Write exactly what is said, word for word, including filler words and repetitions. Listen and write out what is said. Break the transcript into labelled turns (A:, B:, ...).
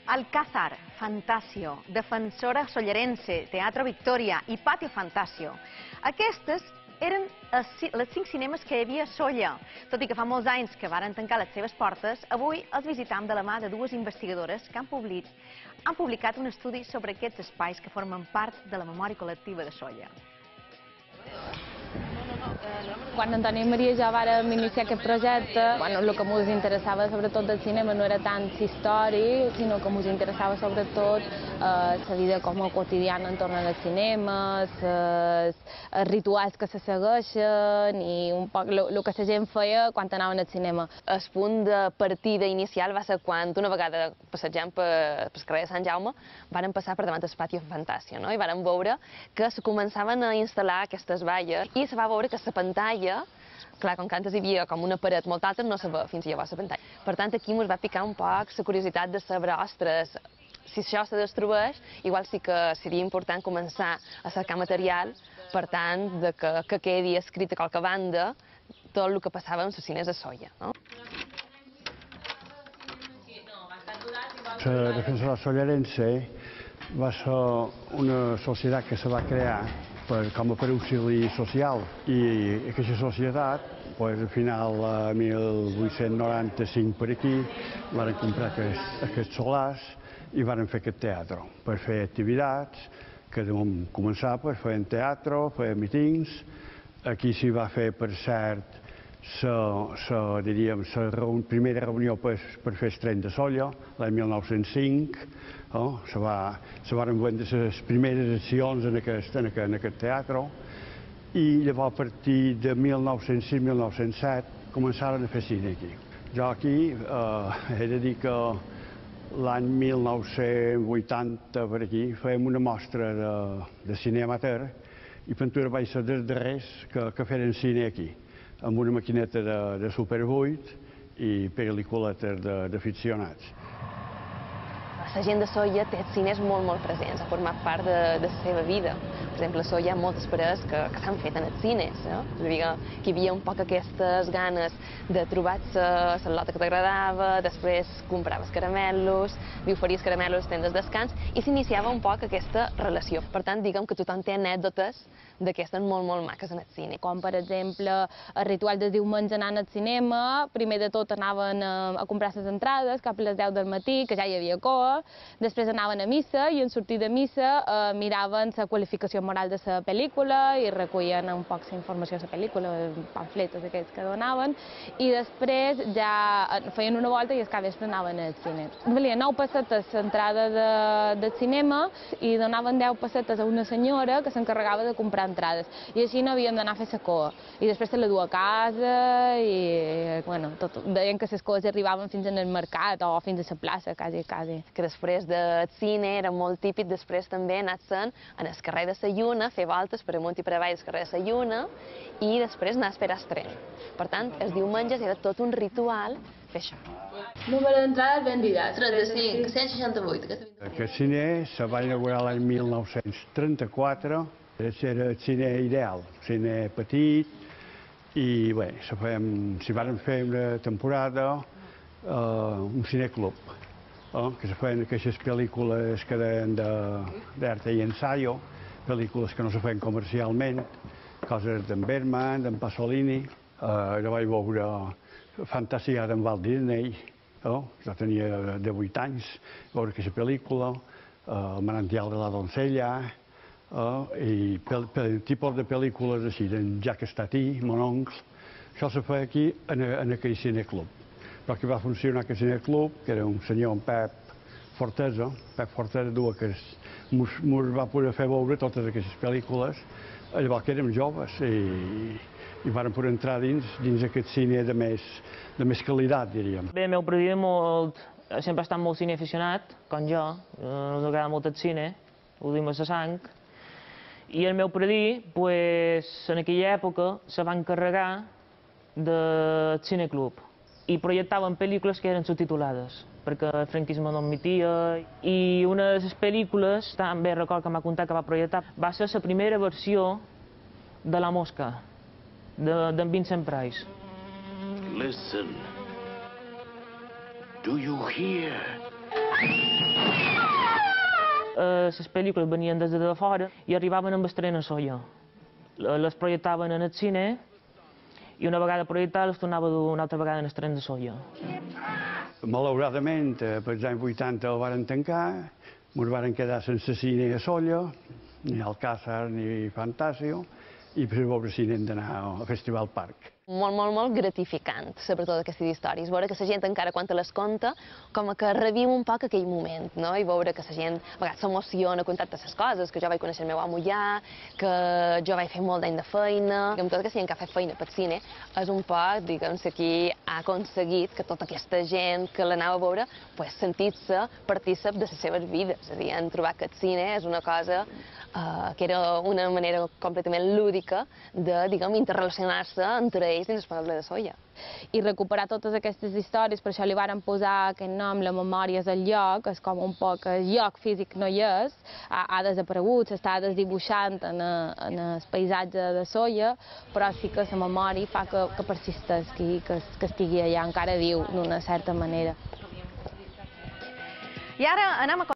A: Alcázar, Fantasio, Defensora Sollerense, Teatro Victoria i Patio Fantasio. Aquestes eren els cinc cinemes que hi havia a Sóller. Tot i que fa molts anys que varen tancar les seves portes, avui els visitam de la mà de dues investigadores que han publicat, han publicat un estudi sobre aquests espais que formen part de la memòria col·lectiva de Sóller.
B: Quan Antoni i Maria i jo vàrem iniciar aquest projecte, el que ens interessava sobretot del cinema no era tant històric, sinó que ens interessava sobretot la vida com a quotidiana entorn als cinemes, els rituals que se segueixen i un poc el que la gent feia quan anaven al cinema.
C: El punt de partida inicial va ser quan una vegada passejant pel carrer de Sant Jaume vàrem passar per davant del Patio Fantasio i vàrem veure que se començaven a instal·lar aquestes valles i se va veure que la pantalla, clar, com que antes hi havia com una paret molt alta, no se veia fins llavors la pantalla. Per tant, aquí ens va picar un poc la curiositat de saber, ostres, si això se destrueix, igual sí que seria important començar a cercar material, per tant, que quedi escrit a qualque banda tot el que passava amb els cines a Sóller.
D: La Defensora Sollerense va ser una societat que se va crear com a per auxili social i aquesta societat, al final, a mil vuit-cents noranta-cinc per aquí, van comprar aquests solars i van fer aquest teatre per fer activitats que vam començar fent teatre, fer mítings. Aquí s'hi va fer, per cert, la primera reunió per fer el tren de Sóller, l'any mil nou-cents cinc. Se van vendre les primeres accions en aquest teatre i llavors a partir de mil nou-cents sis mil nou-cents set començaren a fer cine aquí. Jo aquí he de dir que l'any mil nou-cents vuitanta per aquí fèiem una mostra de cine amateur i Ventura vaig ser dels darrers que feren cine aquí, amb una maquineta de Super vuit i pel·lícules d'aficionats.
C: La gent de Sóller té els cines molt, molt presents, ha format part de la seva vida. Per exemple, a Sóller hi ha moltes parades que s'han fet en els cines. És a dir, que hi havia un poc aquestes ganes de trobar-se la lota que t'agradava, després compraves caramelos, li oferies caramelos als temps de descans i s'iniciava un poc aquesta relació. Per tant, diguem que tothom té anècdotes d'aquestes molt, molt maques en el cine.
B: Com, per exemple, el ritual del diumenge anant al cinema, primer de tot anaven a comprar les entrades cap a les deu del matí, que ja hi havia cua, després anaven a missa i en sortir de missa miraven la qualificació moral de la pel·lícula i recollien un poc la informació de la pel·lícula, pamfletes aquells que donaven, i després ja feien una volta i al capvespre anaven al cine. Valia nou pessetes l'entrada del cinema i donaven deu pessetes a una senyora que s'encarregava de comprar entrades. I així no havíem d'anar a fer la cua. I després se la du a casa i, bueno, deien que les cues arribaven fins al mercat o fins a la plaça, quasi, quasi.
C: Que després del cine era molt típic després també anar-se'n en el carrer de la Lluna, fer voltes per amunt i per avall del carrer de la Lluna i després anar a esperar el tren. Per tant, els diumenges era tot un ritual fer això.
B: Número d'entrades vendides.
C: trenta-cinc, cent seixanta-vuit.
D: Aquest cine se va inaugurar l'any mil nou-cents trenta-quatre. Era el cine ideal, cine petit, i bé, s'hi van fer una temporada un cineclub, que se feien aquestes pel·lícules que deien d'arte i ensayo, pel·lícules que no se feien comercialment, coses d'en Bergman, d'en Pasolini. Jo vaig veure Fantasia d'en Walt Disney, jo tenia de vuit anys, veure aquesta pel·lícula, El manantial de la doncella, i tipus de pel·lícules així, d'en Jacques Tati, Mon oncle. Això se feia aquí en aquell cineclub. Però que va funcionar aquest cineclub, que era un senyor, en Pep Fortesa, Pep Fortesa duia que ens va poder fer veure totes aquestes pel·lícules, llavors que érem joves i vam poder entrar dins aquest cine de més qualitat, diríem.
E: Bé, el meu predí sempre ha estat molt cineaficionat, com jo, ens agrada molt el cine, ho dim a la sang, i el meu predí, en aquella època, se va encarregar del cineclub i projectaven pel·lícules que eren subtitulades, perquè el franquisme no admetia, i una de les pel·lícules, també record que m'ha contat que va projectar, va ser la primera versió de La Mosca, d'en Vincent Price.
F: Listen. Do you hear?
E: eh, les pel·lícules venien des de fora i arribaven amb estrena soia. Les projectaven en el cine i una vegada projectades les tornava a dur una altra vegada en estrena de soia.
D: Malauradament, pels anys vuitanta el varen tancar, ens varen quedar sense cine a Sóller, ni Alcázar ni Fantasio, i per veure cine hem d'anar al Festival Parc.
C: Molt, molt, molt gratificant saber totes aquestes històries, veure que la gent encara quan te les conta, com que reviu un poc aquell moment, no? I veure que la gent a vegades s'emociona a contar les coses, que jo vaig conèixer el meu amo allà, que jo vaig fer molt d'any de feina, que amb tota aquesta gent que ha fet feina pel cine, és un poc, diguem, qui ha aconseguit que tota aquesta gent que l'anava a veure, pues, sentir-se partícip de les seves vides, és a dir, han trobat que el cine és una cosa eh, que era una manera completament lúdica de, diguem, interrelacionar-se entre ells dins el poble de Sóller.
B: I recuperar totes aquestes històries, per això li varen posar aquest nom, la memòria és el lloc, és com un poc el lloc físic no hi és, ha, ha desaparegut, s'està desdibuixant en, a, en el paisatge de Sóller, però sí que la memòria fa que, que persisteixi, que, que estigui allà encara viu d'una certa manera.
A: I ara anem a